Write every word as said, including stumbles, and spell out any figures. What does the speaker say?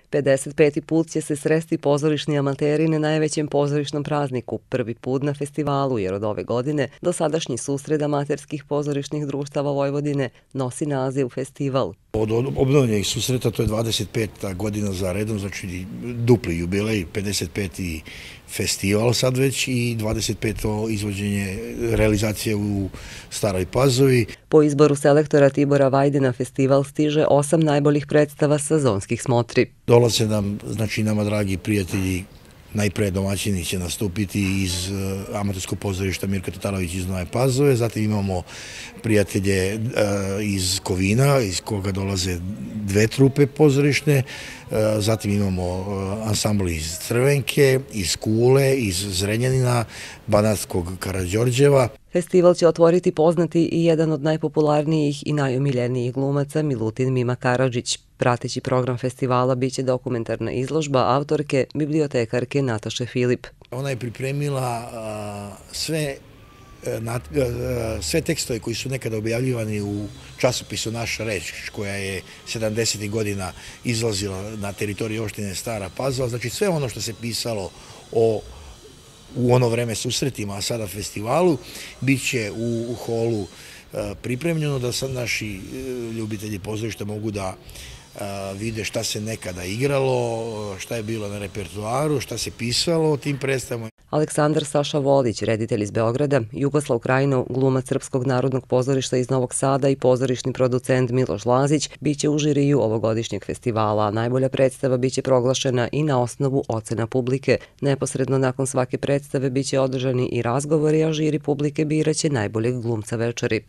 pedeset peti put će se sresti pozorišni amateri na najvećem pozorišnom prazniku, prvi put na festivalu, jer od ove godine dosadašnji susret amaterskih pozorišnih društava Vojvodine nosi naziv festival. Od obnovljenih susreta to je dvadeset peta godina za redom, znači dupli jubilej, pedeset peti festival sad već i dvadeset peto izvođenje realizacije u Staroj Pazovi. Po izboru selektora Tibora Vajdina festival stiže osam najboljih predstava sezonskih smotri. Dolaze nam, znači nama dragi prijatelji, najpre domaćini će nastupiti iz amaterskog pozorišta Mirka Tatalović iz Nove Pazove, zatim imamo prijatelje iz Kovina, iz koga dolaze dve trupe pozorišne, zatim imamo ansambl iz Crvenke, iz Kule, iz Zrenjanina, Banatskog Karađorđeva. Festival će otvoriti poznati i jedan od najpopularnijih i najomiljenijih glumaca Milutin Mima Karadžić. Prateći program festivala biće dokumentarna izložba autorke, bibliotekarke Nataše Filip. Ona je pripremila sve sve tekstove koji su nekada objavljivani u časopisu Naša reč, koja je sedamdesetih godina izlazila na teritoriji opštine Stara Pazova. Znači sve ono što se pisalo o u ono vreme susretima, a sada festivalu, bit će u holu pripremljeno da sad naši ljubitelji pozorišta mogu da vide šta se nekada igralo, šta je bilo na repertoaru, šta se pisalo o tim predstavama. Aleksandar Saša Volić, reditelj iz Beograda, Jugoslav Krajinov, glumac Srpskog narodnog pozorišta iz Novog Sada i pozorišni producent Miloš Lazić biće u žiriju ovogodišnjeg festivala, a najbolja predstava biće proglašena i na osnovu ocena publike. Neposredno nakon svake predstave biće održani i razgovori, a žiri publike biraće najboljeg glumca večeri.